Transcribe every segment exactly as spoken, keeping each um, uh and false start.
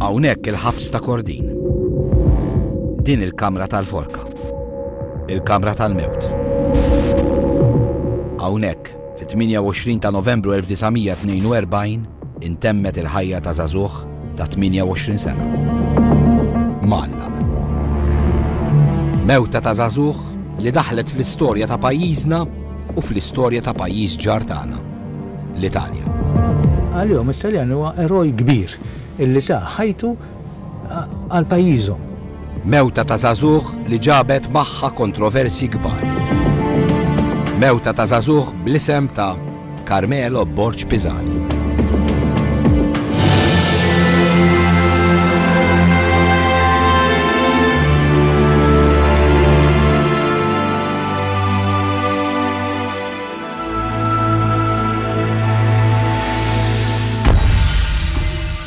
Hawnhekk il-ħabs ta' Kordin. Din il-kamra tal-forka. Il-kamra tal-mewt. Hawnhekk, fit-tmienja u għoxrin ta' Novembru elf disa' mija tnejn u erbgħin, intemmet il-ħajja ta' żagħżugħ ta' tmienja u għoxrin sena. Mgħallaq. Mewta ta' żagħżugħ li daħlet fl-istorja ta' pajjiżna u fl-istorja ta' pajjiż ġar tagħna, l-Italja. Għalihom it-Taljan huwa eroj kbir illi ta' ħajtu għal pajjiżhom. Mewta ta' żagħżugħ li ġabet magħha kontroversi kbar. Mewta ta' żagħżugħ bl-isem ta' Carmelo Borg Pisani.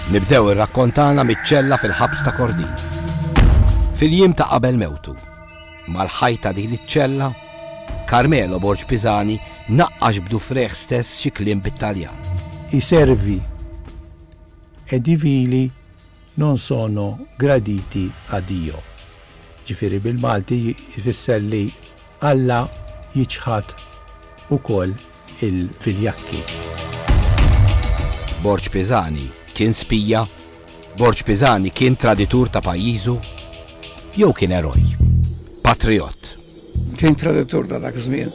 Nibdew ir-rakkontana miċ-ċella fil-ħabs ta' Kordin. Fil-jiem ta' qabel mewtu, mal-ħajta din iċ-ċella, Carmelo Borg Pisani naqqax b'dufreħ stess xi kliem bit-Taljan. I servi e i vili non sono graditi a Dio. Ġifieri bil-Malti jfisser li Alla jiċħad ukoll il-viljakki. Borg Pisani kien spija, Borg Pisani kien traditur ta' pajjiżu, jew kien eroj, patriot. Kien traditur ta' dak żmien.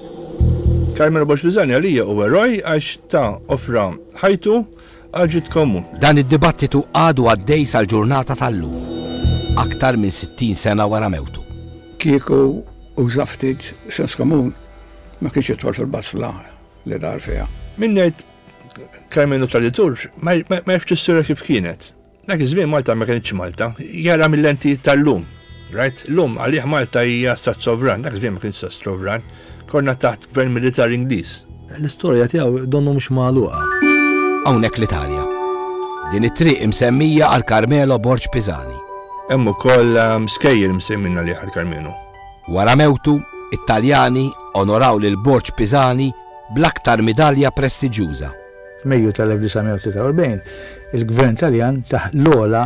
Carmelo Borg Pisani għalija u eroj għax ta' offra ħajtu għal ġid komun. Dan id-dibattitu għadu għaddej sal-ġurnata tal-lum, aktar minn sittin sena wara mewtu. Kieku uża ftit sens komun ma kienx jidħol fil-basla li dar fiha. Min ngħid Carmelo traditur ma jafx is-sura kif kienet. Dak iż-żmien Malta ma kienx Malta, jara mill-lenti tal-lum. Right? Lum għalih Malta hija stat sovran, dak iż-żmien ma kienx stat sovran, konna taħt gvern militari Ingliż. L-istorja tiegħu donnu mhux magħluqa. Hawnhekk l-Italja. Din it-triq imsemmija għal Carmelo Borg Pisani. Hemm ukoll, um, skejjel msemmin għalih għal Carmelo. Wara mewtu, it-Taljani onoraw lil Borg Pisani bl-aktar midalja prestiġjuża. F'Mejju tal-elf disa' mija u tlieta u erbgħin, il-Gvern Taljan taħ l-ogħla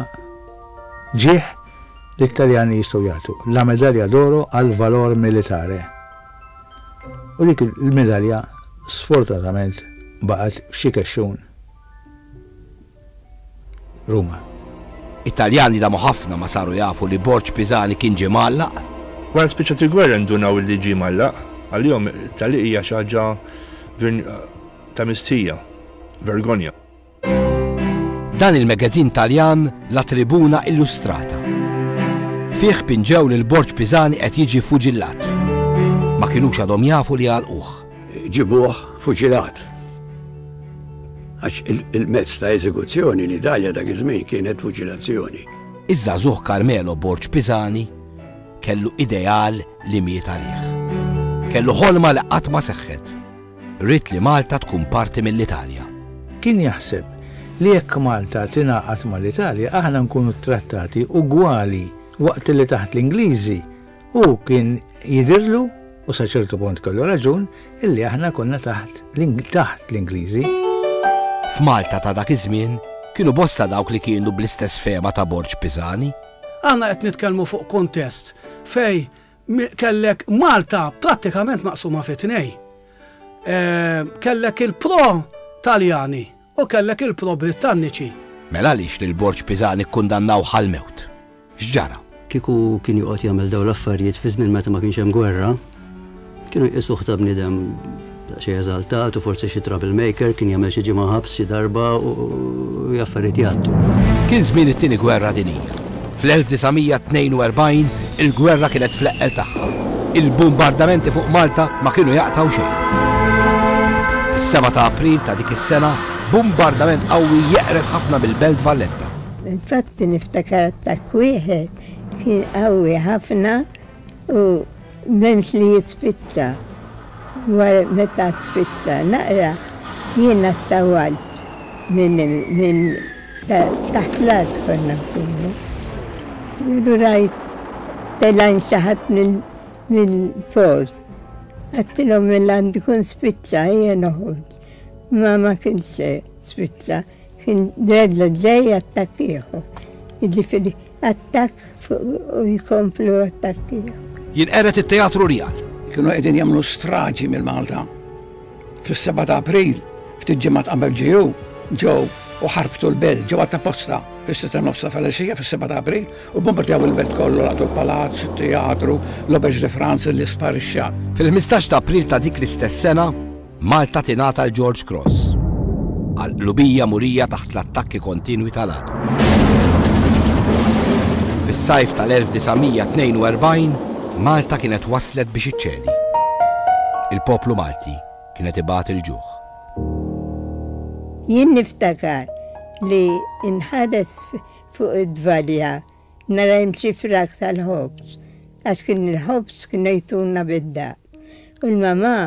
ġieħ li t-Taljani jistgħu jagħtu, la medalja d'oro għal valor militare. U dik il-medalja sfortunatament baqgħet f'xi kexxun Ruma. It-Taljani damu ħafna ma saru jafu li Borg Pisani kien ġie mgħallaq. Wara spiċċat il-gwerra ndunaw li ġie mgħallaq, għalihom it-tagħliq hija xi ħaġa ta' mistħija, vergogna. Dan il-magazin Taljan La Tribuna Illustrata. Fih pinġew lil Borg Pisani qed jiġi fuġillat. Ma kinux għadhom jafu li għalquh. Ġibuh fuġilat. Għax il-, il-mezz ta' eżekuzzjoni l-Italja dak iż-żmien kienet fuġilazzjoni. Iż-żagħżugħ Carmelo Borg Pisani kellu ideal li miet għalih. Kellu ħolma li qatt ma seħħet. Ried li Malta tkun parti mill-Italja. Kien jaħseb li jekk Malta tingħaqad mal-Italja aħna nkunu trattati ugwali waqt li taħt l-Ingliżi, u kien jidhirlu, u sa ċertu punt kellu raġun, illi aħna konna taħt l-Ing-, taħt l-Ingliżi. F'Malta ta' dak iż-żmien kienu bosta dawk li kienu bl-istess fehma ta' Borg Pisani. Aħna qed nitkellmu fuq kontest fej mi-, kellek Malta prattikament maqsuma fi tnej. Eh, kellek il-pro Taljani u kellek il-pro Britanniċi. Mela għaliex lil Borg Pisani kkundannaw ħal-mewt? X'ġara? Kieku kien joqgħod jagħmel dawn l-affarijiet fi żmien meta ma kienx hemm gwerra, kienu jqisuh ta' bniedem xi eżaltat u forsi xi troublemaker, kien jagħmel xi ġimgħa ħabs xi darba u, u affarijiet jgħaddu. Kien żmien it-tieni gwerra dinjija. Fl-elf disa' mija tnejn u erbgħin il-gwerra kienet fl-eqqel tagħha. Il-bombardamenti fuq Malta ma kienu jaqtgħu xejn. Fis-seba ta' April ta' dik is-sena, bombardament qawwi jeqred ħafna mill-Belt Valletta. Infatti niftakar attakk wieħed kien qawwi ħafna u m'hemmx li jispiċċa. Wara meta spiċċa naqra jiena ttawalt minn, minn ta-, taħt l-art konna nkunu. Jienu rajt telgħin xi ħadd mill-, mill-port. Għedtilhom mela għandu jkun spiċċa, ejja noħorġ. Ma ma kienx spiċċa, kien dredla ġej attakk ieħor. Jiġifieri attakk u jkomplu attakki. Jinqered it-Teatru Rjal. Kienu qegħdin jagħmlu straġi mill-Malta. Fis-sebgħa ta' April, ftit ġimgħat qabel ġew, ġew u ħarbtu l-belt, ġew għat-posta fis-sitta nofsa filgħaxija fis-sebgħa ta' April u bombardjaw il-belt kollu, laqtu l-palazz, it-teatru, l-Auberge de France li sparixxa. Fil-ħmistax ta' April ta' dik l-istess sena, Malta tingħata l-George Cross għal qlubija murija taħt l-attakki kontinwi tal-għadu. Fis-sajf tal-elf disa' mija tnejn u erbgħin, Malta kienet waslet biex iċċedi. Il-poplu Malti kienet ibati l-ġuħ. Jien niftakar li nħares fuq id-dvalja nara jimxi frak tal-ħobż, għax kien il-ħobż kienu jtuna bid-daq. U l-mamà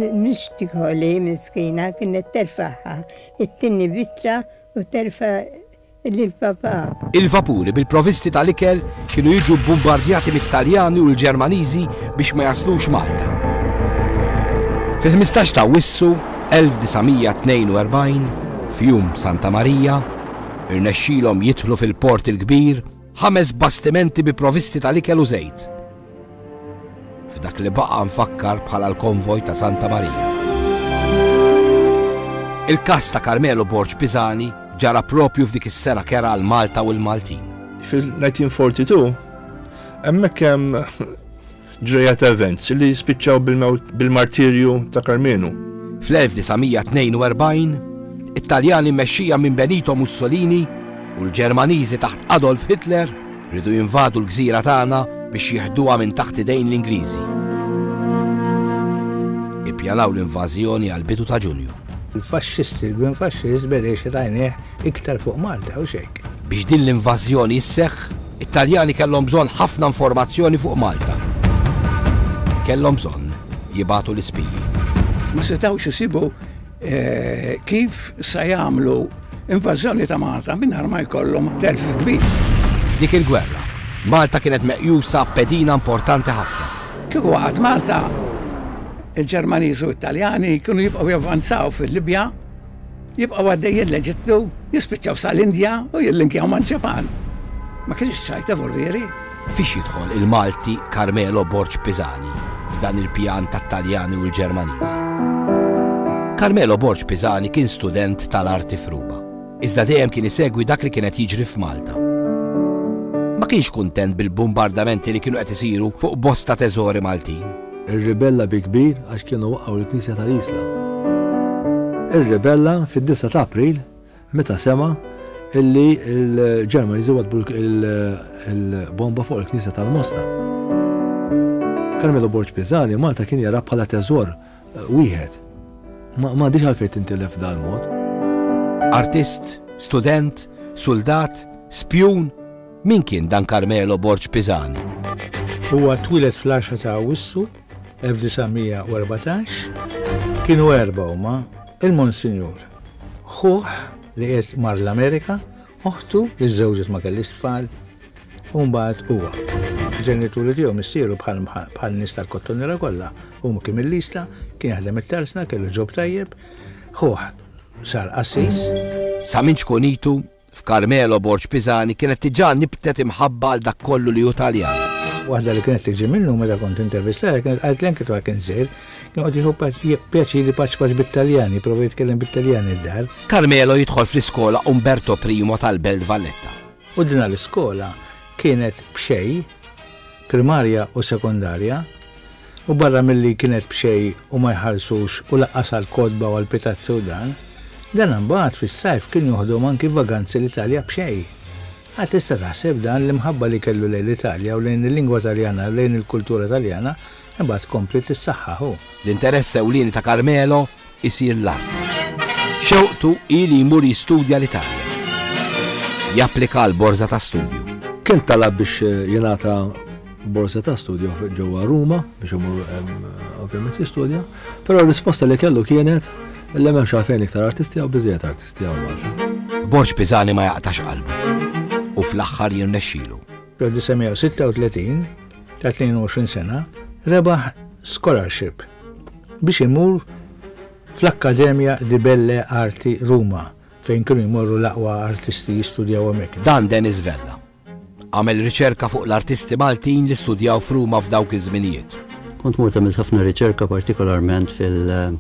mhix tikħoli miskina kienet terfaħħa, it-tinni biċċa u terfa' lil-papà. Il-vapuri bil-provisti tal-ikel kienu jiġu bombardjati mit-Taljani u l-Ġermaniżi biex ma jaslux Malta. Fil-ħmistax ta' Awwissu elf disa' mija tnejn u erbgħin, f'jum Santa Marija, irnexxilhom jidħlu fil-Port il-Kbir ħames bastimenti bi provisti tal-ikel u żejt. F'dak li baqa' nfakkar bħala l-konvoj ta' Santa Marija. Il-kas ta' Carmelo Borg Pisani ġara propju f'dik is-sena kera għal Malta u l-Maltin. Fil-nineteen forty-two, hemmhekk hemm ġrejja ta' events li spiċċaw bil-mewt, bil-martirju ta' Karmenu. Fl-elf disa' mija tnejn u erbgħin, it-Taljani mmexxija minn Benito Mussolini u l-Ġermaniżi taħt Adolf Hitler rridu jinvadu l-gżira tagħna biex jieħduha minn taħt idejn l-Ingliżi. Ippjanaw l-invażjoni għal bidu ta' Ġunju. Il-faxxisti, il-gvern faxxist beda jixgħet għajnejh iktar fuq Malta u xejk. Biex din l-invażjoni sseħħ, it-Taljani kellhom bżonn ħafna informazzjoni fuq Malta. Kellhom bżonn jibagħtu l-ispiji. Ma setgħux isibu, eh, kif se jagħmlu invażjoni ta' Malta mingħajr ma jkollhom telf kbir. F'dik il-gwerra, Malta kienet meqjusa pedina importanti ħafna. Kieku waqgħet Malta, il-Ġermaniżi u t-Taljani kienu jibqgħu javvanzaw fil-Libja, jibqgħu għaddejjin l-Eġittu, jispiċċaw sal-Indja u jillinkjaw mal-Ġapan. Ma kienx ċajta vorrieri. Fiex jidħol il-Malti Carmelo Borg Pisani f'dan il-pjan tat-Taljani u l-Ġermaniżi? Carmelo Borg Pisani kien student tal-arti f'Ruma, iżda dejjem kien isegwi dak li kienet jiġri f'Malta. Ma kienx kuntent bil-bombardamenti li kienu qed isiru fuq bosta teżori Maltin. Irribella bi kbir għax kienu waqgħu l-Knisja tal-Isla. Irribella fid-disgħa ta' April meta sema illi l-Ġermaniżi wadbu l-bomba fuq il-Knisja tal-Mosta. Carmelo Borg Pisani Malta kien jara bħala teżor wieħed. Ma m'għandix għalfejn tintilef dal-mod. Artist, student, soldat, spjun, min kien dan Carmelo Borg Pisani? Huwa twieled fl-għaxra ta' Awwissu elf disa' mija u erbatax, kienu erba' huma il-Monsinjur, ħuh li qed mar l-Amerika, oħtu li żżewġet ma kellix tfal, u mbagħad huwa. Ġenituri tiegħu missieru bħal, bħal nies tal-Kottonera kollha, huma kien mill-Isla, kien jaħdem it-tarsna, kellu ġob tajjeb, ħuh sar qassis. Sa minn ċkunitu, f'Carmelo Borg Pisani kienet diġà nibtet imħabba għal dak kollu li hu Taljan. Waħda li kienet tiġi minnu meta kont intervistata kienet qalt li anke dwar kien żgħir, kien qed jieħu paċ-, jie-, pjaċiri paċ paċ bit-Taljani, prova jitkellem bit-Taljani d-dar. Carmelo jidħol fl-iskola Umberto Primo tal-Belt Valletta. U din l-iskola kienet b'xejn, primarja u sekondarja, u barra milli kienet b'xejn u ma jħallsux u laqqas għall-kotba u għall-pitazzi u dan, dan imbagħad fis-sajf kien joħdom anki vaganzi l-Italja b'xejn. Għad tista' taħseb dan l-imħabba li kellu lejn l-Italja u lejn il-lingwa Taljana u lejn il-kultura Taljana, imbagħad kompli tissaħħaħ hu. L-interess ewlieni ta' Carmelo isir l-arti. Xewqtu hi li jmur jistudja l-Italja. Japplika għal borża ta' studju. Kien talab biex jingħata borża ta' studju ġewwa Ruma biex imur, em, ovvjament jistudja, però r-risposta li kellu kienet li m'hemmx għalfejn iktar artisti jew biżejjed artisti hawn Malta. Borg Pisani ma jaqtax qalbu u fl-aħħar jirnexxielu. Fl-elf disa' mija u sitta u tletin, ta' tnejn u għoxrin sena, rebaħ scholarship biex imur fl-Akkademja di Belle Arti Ruma. Fejn kienu jmorru l-aqwa artisti jistudjaw hemmhekk. Dan Dennis Vella. Għamel riċerka fuq l-artisti Maltin li studjaw f'Ruma f'dawk iż-żminijiet. Kont mort għamilt ħafna riċerka, partikolarment fil-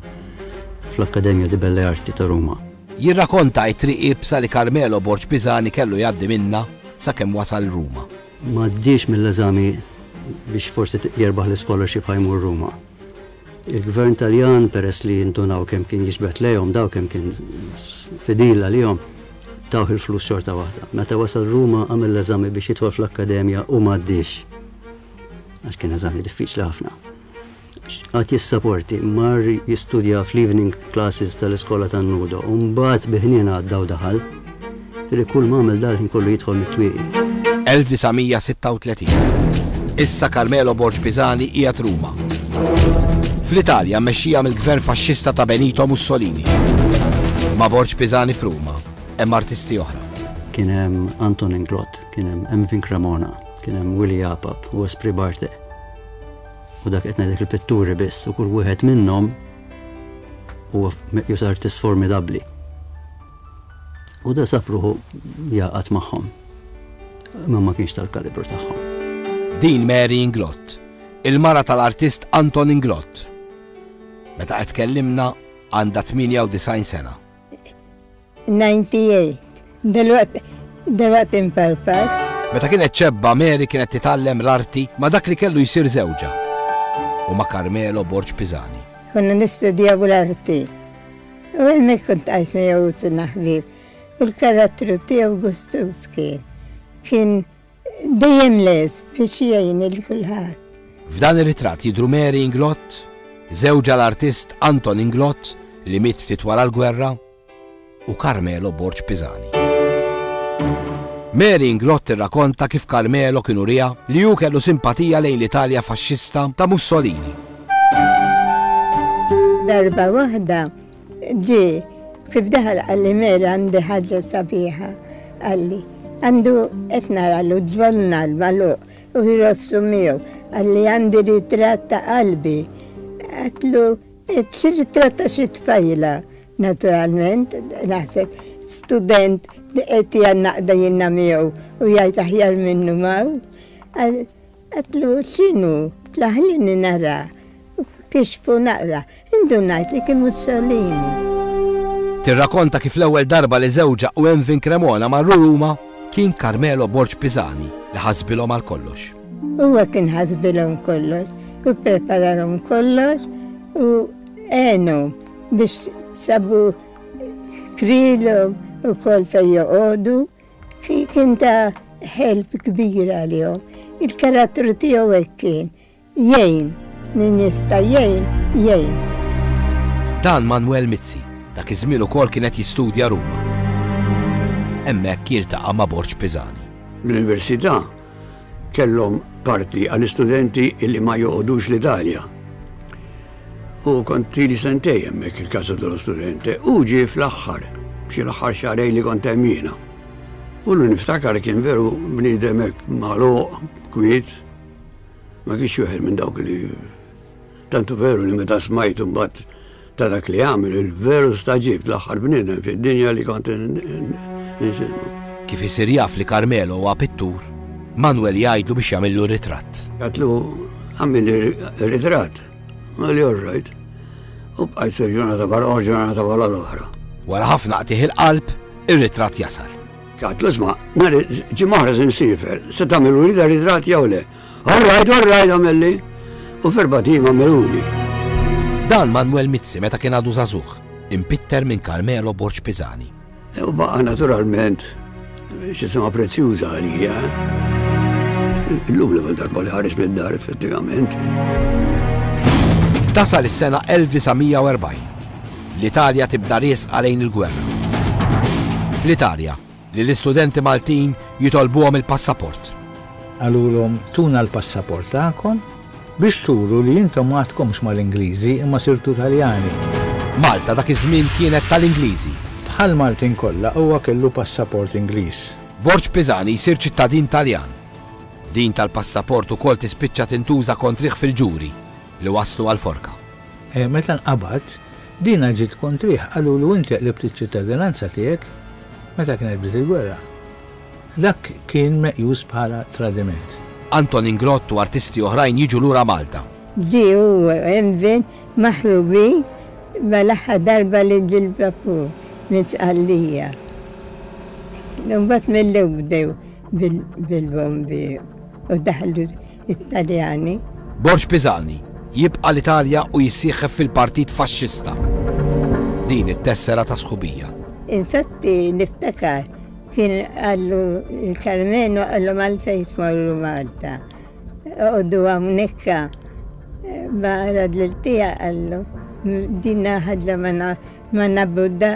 fl-Akkademja di Belle Arti ta' Ruma. Jirrakonta it-triq iebsa li Carmelo Borg Pisani kellu jgħaddi minna sakemm wasal Ruma. Ma għaddiex mill-eżami biex forsi jerbaħ l-scholarship ħa jmur Ruma. Il-gvern Taljan, peress li jindunaw kemm kien jiġbed lejhom daw, kemm kien fidila lihom, tawh il-flus xorta waħda. Meta wasal Ruma, għamel l-eżami biex jidħol fl-akkademja u ma għaddiex. Għax kien eżami diffiċli ħafna. Għad jissaporti, mar jistudja fl-evening classes tal-iskola tan-Nudo, u mbagħad bi ħniena għadda u daħal, fili kull ma għamel dal-ħin kollu jidħol mit-twieqi. elf disa' mija sitta u tletin. Issa Carmelo Borg Pisani qiegħed Ruma. Fl-Italja mmexxija mill-gvern faxxista ta' Benito Mussolini. Ma' Borg Pisani f'Ruma hemm artisti oħra. Kien hemm Anton Inglott, kien hemm Emvin Cremona, kien hemm Willi Apap u Esprit Barthe. U dak qed ngħidlek il-pitturi biss, u kull wieħed minnhom huwa meqjus artist formidabbli. U da sab ruħu jaqgħad magħhom. Ma ma kienx tal-kalibru tagħhom. Din Mary Inglott, il-mara tal-artist Anton Inglott. Meta qed tkellimna għandha tmienja u disgħin sena. disgħa u disgħin. Dalwaqt, dalwaqt imparpar. Meta kienet xebba, Mary kienet titgħallem l-arti ma' dak li kellu jsir żewġha u ma' Carmelo Borg Pisani. Konna nistudjaw l-arti. U hemmhekk kont għajx miegħu sirna ħbieb. U l-karattru tiegħu gustuż kien. Kien dejjem lest biex jgħin lil kulħadd. F'dan ir-ritratt jidru Mary Inglott, żewġha l-artist Anton Inglott li miet ftit wara l-gwerra, u Carmelo Borg Pisani. Mary Inglott tirrakonta kif Carmelo kien uriha li hu kellu simpatija lejn l-Italja faxxista ta' Mussolini. Darba waħda ġie, kif daħal qalli: "Mary, għandi ħaġa sabiħa," qalli. Għandu qed naralu ġurnal magħluq u jrossu miegħu. Qalli: "Għandi ritratt ta' qalbi." Għedtlu: "Xi ritratt ta' xi tfajla?" Naturalment, naħseb student li qed jgħannaqda jiena miegħu u jgħid aħjar minnu maw. Għedtlu: "X'inhu? Ħallini nara." U kixfu naqra. Indunajt li kien Mussolini. Tirrakonta kif l-ewwel darba li żewġha u Emvin Cremona marru Ruma kien Carmelo Borg Pisani li ħasbilhom għal kollox. Huwa kien ħasbilhom kollox u preparalhom kollox u għenu biex sabu krilhom u kol fej joqogħdu. Kien ta' help kbira għalihom. Il-karattru tiegħu hekk kien. Jgħin, min jista' jgħin, jgħin. Dan Manuel Mizzi, dak iż-żmien ukoll kienet jistudja Ruma. Hemmhekk jiltaqa' ma' Borg Pisani. L-università kellhom parti għall-istudenti illi ma joqogħdux l-Italja. U kont ili sentejn hemmhekk il-Casa dello Studente u ġie fl-aħħar, xi l-aħħar xahrejn li kont hemm jiena. U l niftakar kien veru bniedem hekk magħluq, kwiet, ma kienx wieħed minn dawk li tantu veru li meta smajt mbagħad ta' dak li għamel, il-veru stagħġibt, l-aħħar bniedem fid-dinja li kont nxinnu. Kif isir jaf li Carmelo huwa pittur, Manuel jgħidlu biex jagħmillu ritratt. Għedtlu: "Għamilli ritratt." Qalli: "All right." U bqajt ġurnata wara ġurnata wara l-oħra. Wara ħafna qtigħ il-qalb, ir-ritratt jasal. Għedtlu: "Isma', nhar ġimgħa oħra se nsifer, se tagħmlu li ritratt jew le?" "All right, all right," għamilli. U f'erbat ijiem għamiluli. Dan Manuel Mizzi meta kien għadu żagħżugħ, impitter minn Carmelo Borg Pisani. U baqa naturalment xi sema prezzjuża għalija. Illum l-ewwel darba li ħareġ mid-dar effettivament. Tasal is-sena elf disa' mija u erbgħin. L-Italja tibda riesqa lejn il-gwerra. Fl-Italja, li l-istudenti Maltin jitolbuhom il-passaport. Qalulhom: "Tuna l-passaport tagħkom biex turu li intom ma għadkomx mal-Ingliżi imma sirtu Taljani." Malta dak iż-żmien kienet tal-Ingliżi. Bħal Maltin kollha, huwa kellu passaport Ingliż. Borg Pisani jsir ċittadin Taljan. Din tal-passaport ukoll tispiċċa tintuża kontrih fil-ġuri li waslu għal forka. E, meta nqabad, Dina ġiet kontrih, qalulu inti qlibt iċ-ċittadinanza tiegħek meta kienet bdiet il-gwerra. Dak kien meqjus bħala tradiment. Anton Inglott u artisti oħrajn jiġu lura Malta. Ġie u Emvin maħrubin mal-aħħar darba li ġie l-vapur minn Sqallija. Mbagħad mill bdew bil-bombi u daħlu it-Taljani. Borg Pisani jibqa' l-Italja u jissieħeb fil-Partit Faxxista. Din it-tessera ta' sħubija. Infatti niftakar kien qallu il-Karmenu qallu għalfejn tmorru Malta. Oqogħdu hawnhekk ma radliltija qallu din ħaġa ma nabbuda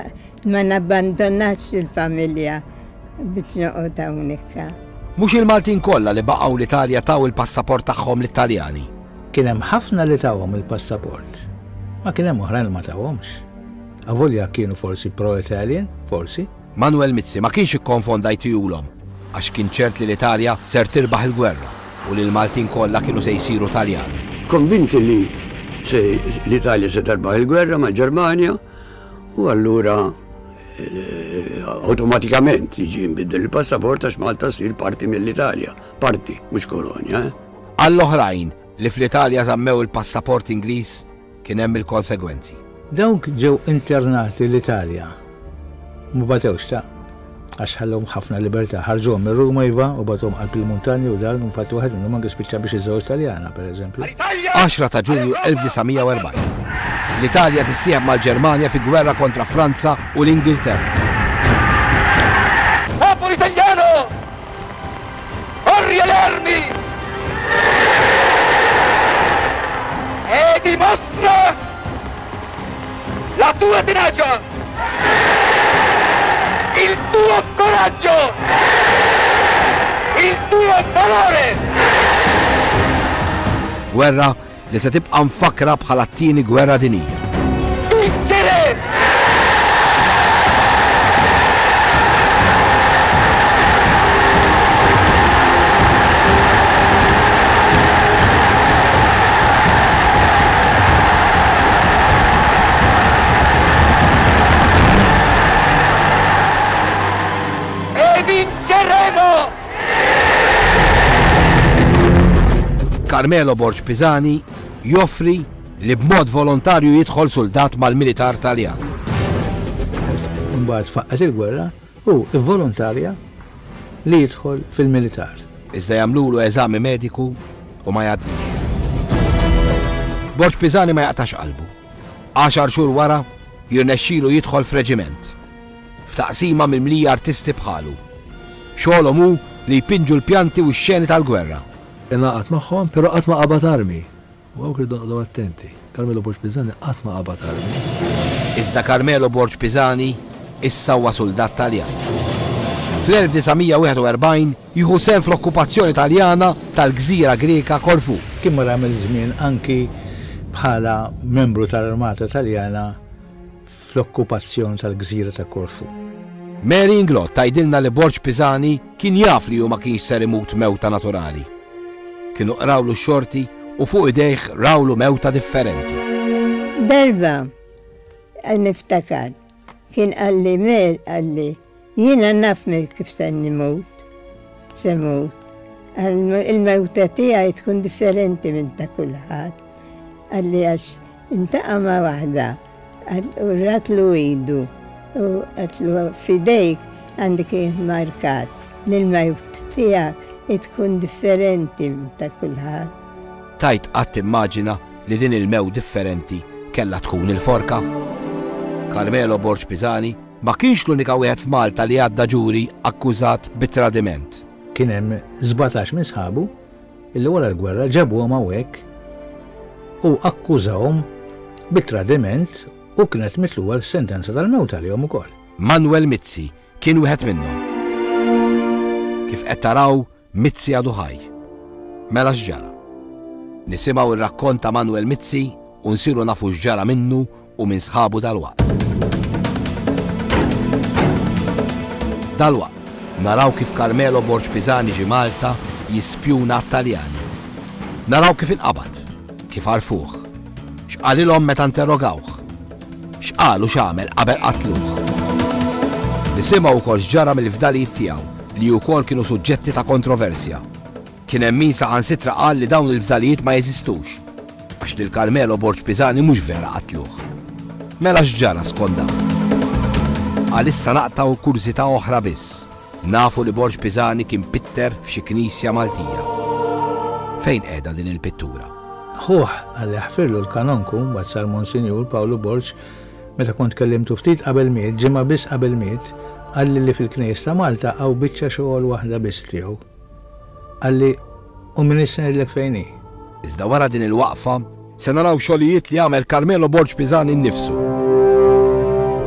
ma nabbandonax il-familja biex noqgħod hawnhekk. Mhux il-Maltin kollha li baqgħu l-Italja taw il-passaport tagħhom lit-Taljani. Kien hemm ħafna li tawhom il-passaport. Ma kien hemm oħrajn li ma tawhomx. Avolja kienu forsi pro-Italian, forsi. Manuel Mizzi ma kienx ikkonfonda jtihulhom għax kien ċert li l-Italja ser tirbaħ il-gwerra u li l-Maltin kollha kienu se jsiru Taljani. Konvinti li se l-Italja se terbaħ il-gwerra mal-Ġermanja u allura awtomatikament jiġi nbiddel il-passaport għax Malta ssir parti mill-Italja, parti, mhux kolonja. Għall-oħrajn li fl-Italja żammew il-passaport Ingliż kien hemm il-konsegwenzi. Dawk ġew internati l-Italja. Ma batewx ta' għax ħallhom ħafna libertà. Ħarġuhom minn Ruma iva u bagħtuhom qalb il-muntanji u dan infatti wieħed minnhom anke spiċċa biex iżżewweġ Taljana pereżempju. għaxra ta' Ġunju elf disa' mija u erbgħin. L-Italja tissieħeb mal-Ġermanja fi gwerra kontra Franza u l-Ingilterra. Popolo italiano! Corri alle armi! E dimostra la tua tenacia! Il tuo coraggio! Il tuo valore! Gwerra li se tibqa' mfakkra bħala t-tieni gwerra dinjija. Vincere! E vinceremo! Carmelo Borg Pisani joffri li b'mod volontarju jidħol soldat mal-militar Taljan. Imbagħad faqqet il-gwerra u vvolontarja li jidħol fil-militar. Iżda jagħmlulu eżami mediku u ma jgħaddix. Borg Pisani ma jaqtax qalbu. Għaxar xhur wara jirnexxilu jidħol f'reġiment. F'taqsima mimlija artisti bħalu. Xogħolhom hu li jpinġu l-pjanti u x-xeni tal-gwerra. Ingħaqad magħhom, però qatt ma qabad armi. U hawn irridu noqogħdu attenti. Carmelo Borg Pisani qatt ma qabad armi. Iżda Carmelo Borg Pisani issa huwa soldat Taljan. Fl-elf disa' mija wieħed u erbgħin jieħu sehem fl-okkupazzjoni Taljana tal-gżira Greka Korfu. Kien mar għamel żmien anki bħala membru tal-Armata Taljana fl-okkupazzjoni tal-gżira ta' Korfu. Mary Inglott tgħidilna li Borg Pisani kien jaf li hu ma kienx ser imut mewta naturali. Kienu qrawlu x-xorti u fuq idejh rawlu mewta differenti. Darba niftakar, kien qalli Mer, qalli jiena naf kif se nimut, se mut. Il-mewta tiegħi tkun differenti minn ta' kulħadd. Qalli għax intaqa' ma' waħda, u ratlu idu, u qatlu f'idejk għandek markat li l-mewt tiegħek tkun differenti minn ta' kulħadd. Tajt qatt immaġina li din il-mew differenti kellha tkun il-forka. Carmelo Borg Pisani ma kienx l-unika wieħed f'Malta li għadda ġuri akkużat bit-tradiment. Kien hemm sbatax minn sħabu illi wara l-gwerra ġabuhom hawnhekk u akkużawhom bit-tradiment u kienet mitluha l-sentenza tal-mewt għalihom ukoll. Manuel Mizzi kien wieħed minnhom. Kif qed taraw, Mizzi għadu ħaj. Mela x'ġara? Nisimgħu r-rakkont ta' Manuel Mizzi u nsiru nafu x'ġara minnu u minn sħabu dalwaqt. Dalwaqt naraw kif Carmelo Borg Pisani ġie Malta jispjuna għat-Taljani. Naraw kif inqabad, kif għarfuh, x'qalilhom meta interrogawh, X'qal u x'għamel qabel qatluh. Nisimgħu wkoll x'ġara mill-fdalijiet tiegħu li wkoll kienu suġġetti ta' kontroversja. Kien hemm min saħansitra qal li dawn il-fdalijiet ma jeżistux għax lil Carmelo Borg Pisani mhux vera qatluh. Mela x'ġara skont dawn? Għalissa naqtgħu kurżità oħra biss. Nafu li Borg Pisani kien pitter f'xi knisja Maltija. Fejn qiegħda din il-pittura? Ħuh għalli ħfirlu l-kanonku, mbagħad sar Monsinjur Pawlu Borg, meta kont kellimtu ftit qabel miet, ġimgħa biss qabel miet, qalli li fil-Knejjes ta' Malta hawn biċċa xogħol waħda biss tiegħu. Qalli u min issa ngħidlek fejn hi. Iżda wara din il-waqfa se naraw xogħlijiet li għamel Carmelo Borg Pisani nnifsu.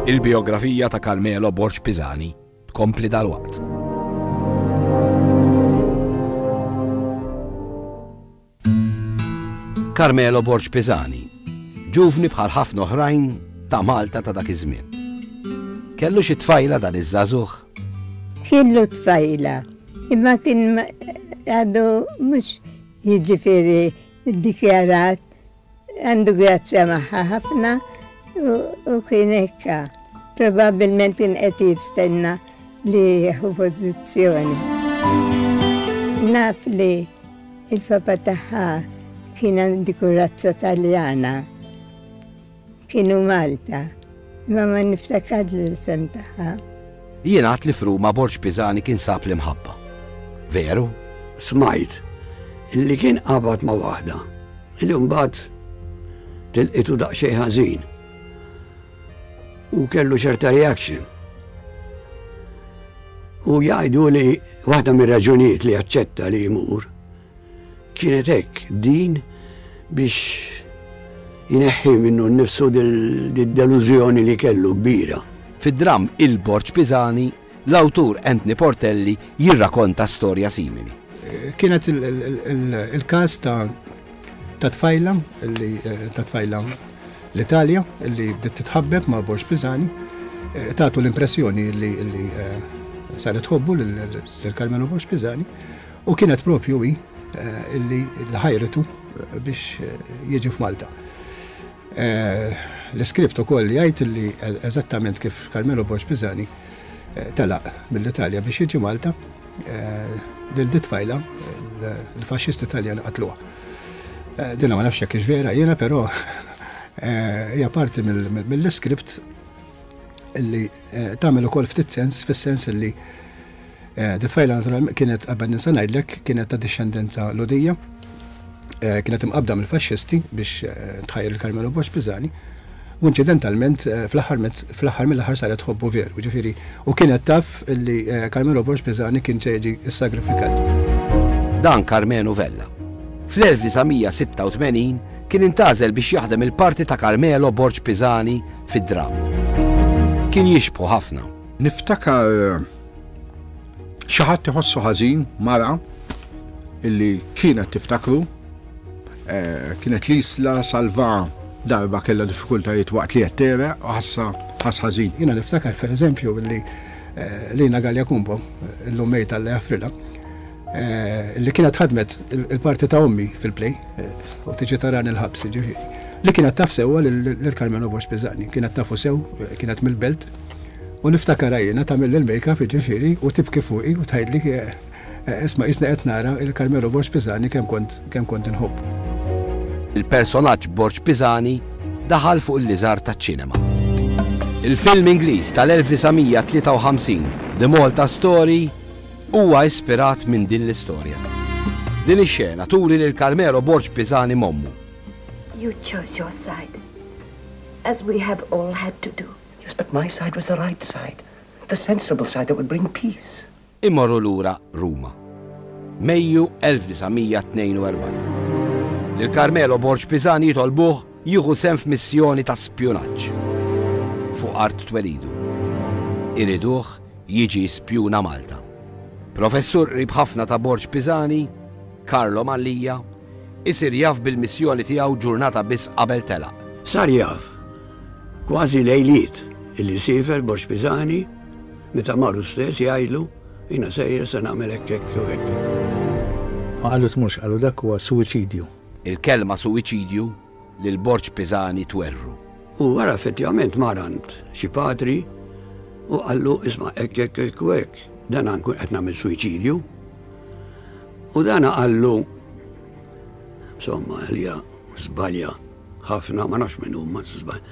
Il-biografija ta' Carmelo Borg Pisani tkompli dalwaqt. Carmelo Borg Pisani, ġuvni bħal ħafna oħrajn ta' Malta ta' dak iż-żmien. Kellu xi tfajla dan iż-żagħżugħ? Kellu tfajla, imma kien għadu mhux jiġifieri ddikjarat, għandu grazzja magħha ħafna u kien hekka. Probabilment kien qed jistenna li jieħu pożizzjoni. Naf li il-papa tagħha kien għandu kurazza Taljana, kienu Malta, imma ma niftakar l-isem tagħha. Jingħad li f'Ruma Borg Pisani kien sab l-imħabba. Veru? Smajt li kien qabad ma' waħda, li mbagħad tilqitu daqsxejn ħażin. U kellu ċerta reaction. U jgħidu li waħda mir-raġunijiet li aċċetta li jmur kienet hekk din biex jneħħi minnu nnifsu dil-delużjoni li kellu kbira. Fid-dramm Il-Borg Pisani, l-awtur Anthony Portelli jirrakonta storja simili. Kienet il-każ ta' tfajla li ta' tfajla l-Italja li bdiet titħabbeb ma' Borg Pisani, tagħtu l-impressjoni li saret tħobbu lil Carmelo Borg Pisani, u kienet propju hi illi ħajritu biex jiġi f'Malta. L-iskript ukoll jgħid li eżattament kif Carmelo Borg Pisani telaq mill-Italja biex jiġi Malta, lil dit tfajla l-faxxisti Taljani qatluha. Dina ma nafx jekk hix vera jiena, però hija parti mill-iskript illi tagħmel ukoll ftit sens, fis-sens illi dit tfajla naturalment kienet, qabel ninsa ngħidlek, kienet ta' dixxendenza Lhudija, kienet imqabda mill-faxxisti biex tħajjar il Carmelo Borg Pisani, u inċidentalment fl-aħħar mill-aħħar saret tħobbu veru, ġifieri, u kienet taf li Carmelo Borg Pisani kien se jiġi ssagrifikat. Dan Karmenu Vella. fl-elf disa' mija sitta u tmenin kien intgħażel biex jaħdem il-parti ta' Carmelo Borg Pisani fid-dramm. Kien jixbħu ħafna. Niftakar xi ħadd iħossu ħażin mara illi kienet tiftakru, eh, kienet l-Isla Salva darba kellha diffikultajiet waqt li qed tegħreq u ħassa ħass ħażin. Jiena niftakar pereżempju li, eh, Lina Galea Cumbo, illum mejta Alla jaħfrilha, eh, li kienet ħadmet il-parti ta' ommi fil-play, eh, u tiġi taran il-ħabs, ġifieri, li kienet taf sewwa lil Carmelo Borg Pisani, kienet tafu sew, kienet mill-belt, u niftakar jiena tagħmel il-make-up, ġifieri, u tibki fuqi u tgħidli, eh, eh, isma' isna qed nara il Carmelo Borg Pisani kemm kont, kemm kont inħobbu. Il-personaġġ Borg Pisani daħal fuq il-liżar taċ-ċinema. Il-film Ingliż tal-elf disa' mija tlieta u ħamsin, The Malta Story, huwa ispirat minn din l-istorja. Din ix-xena turi lil Carmelo Borg Pisani mommu. You chose your side, as we have all had to do. Yes, but my side was the right side, the sensible side that would bring peace. Immorru lura Ruma. Mejju elf disa' mija tnejn u erbgħin. Lil Carmelo Borg Pisani jitolbuh jieħu sehem f'missjoni ta' spjunaġġ fuq art twelidu. Iriduh jiġi spjuna Malta. Professur qrib ħafna ta' Borg Pisani, Carlo Mallia, isir jaf bil-missjoni tiegħu ġurnata biss qabel telaq. Sar jaf kważi lejliet illi siefer Borg Pisani meta marru stess jgħidlu jiena sejjer se nagħmel hekk hekk u hekk. Ma qalu tmurx, qalu dak huwa suwiċidju. Il-kelma suwiċidju lil Borg Pisani twerru. U wara effettivament mar għand xi patri u qallu isma' hekk hekk hekk u hekk, dan nkun qed nagħmel suwiċidju. U dan qallu insomma għalija żbalja ħafna, ma nafx minn huma żbalja.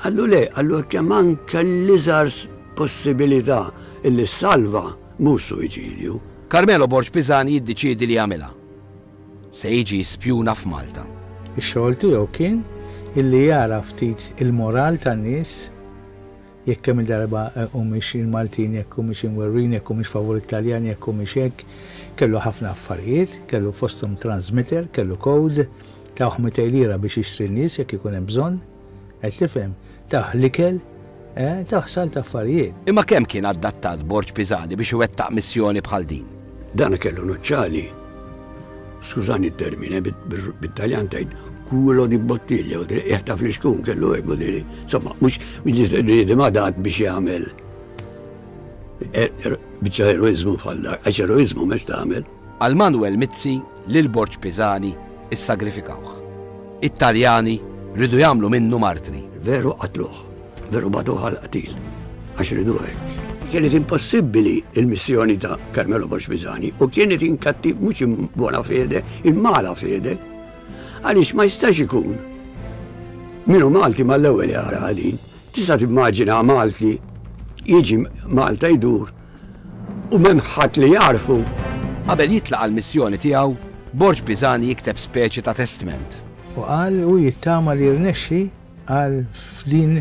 Qallu le, qallu kemm anke l-iżgħar possibilità illi salva mhux suwiċidju. Carmelo Borg Pisani jiddeċiedi li jagħmilha. Se jiġi spjuna f'Malta. Ix-xogħol tiegħu kien illi jara ftit il-moral tan-nies jekk kemm il-darba humiex il-Maltin, jekk humiex imwerwrin, jekk humiex favur Italjan, jekk humiex hekk. Kellu ħafna affarijiet, kellu fosthom transmitter, kellu code, tawh mitejn lira biex jixtri n-nies jekk ikun hemm bżonn, qed tifhem, tawh l-ikel, eh, tawh salt affarijiet. Imma kemm kien adattat Borg Pisani biex iwettaq missjoni bħal din? Dan kellu nuċċali, skużani t-termine, bit-Taljan tgħid culo di bottiglia, u jaħtaf li xkun kellu hekk u diri. Insomma, mhux bniedem adatt biex jagħmel biċċa eroiżmu bħal dak, għax eroiżmu mhux tagħmel. Għal Manuel Mizzi lil Borg Pisani issagrifikawh. It-Taljani ridu jagħmlu minnu martri. Veru qatluh, veru bagħtuh għal qatil, għax ridu hekk. Kienet impossibbli il-missjoni ta' Carmelo Borg Pisani u kienet inkatti mhux in buona fede, in mala fede. Għaliex ma jistax ikun. Minu Malti mal-ewwel jara din. Tista' timmaġina Malti jiġi Malta jdur u m'hemm ħadd li jarfu. Qabel jitlaq għall-missjoni tiegħu, Borg Pisani jikteb speċi ta' testament. U qal u jittama li jirnexxi għal f'din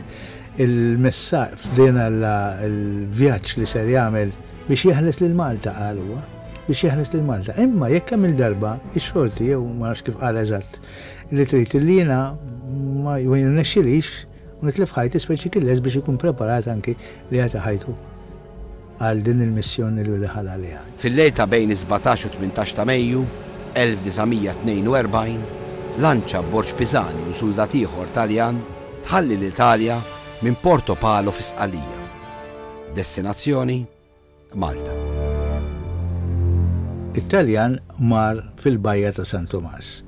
il-messaġġ, f'din il-vjaġġ li ser jagħmel biex jeħles lil Malta, qal huwa, biex jeħles lil Malta. Imma jekk hemm il-darba ix-xorti jew ma nafx kif qal eżatt li trid li jiena ma jirnexxilix u nitlef ħajti, speċi kien lest biex ikun preparat anki li jagħti ħajtu għal din il-missjoni li daħal għaliha. Fil-lejl ta' bejn is-sbatax u tmintax ta' Mejju elf disa' mija tnejn u erbgħin, lanċa Borg Pisani u suldat ieħor Taljan tħalli l-Italja minn Porto Palo fi Sqallija. Destinazzjoni Malta. It-Taljan mar fil-bajja ta' San Tomas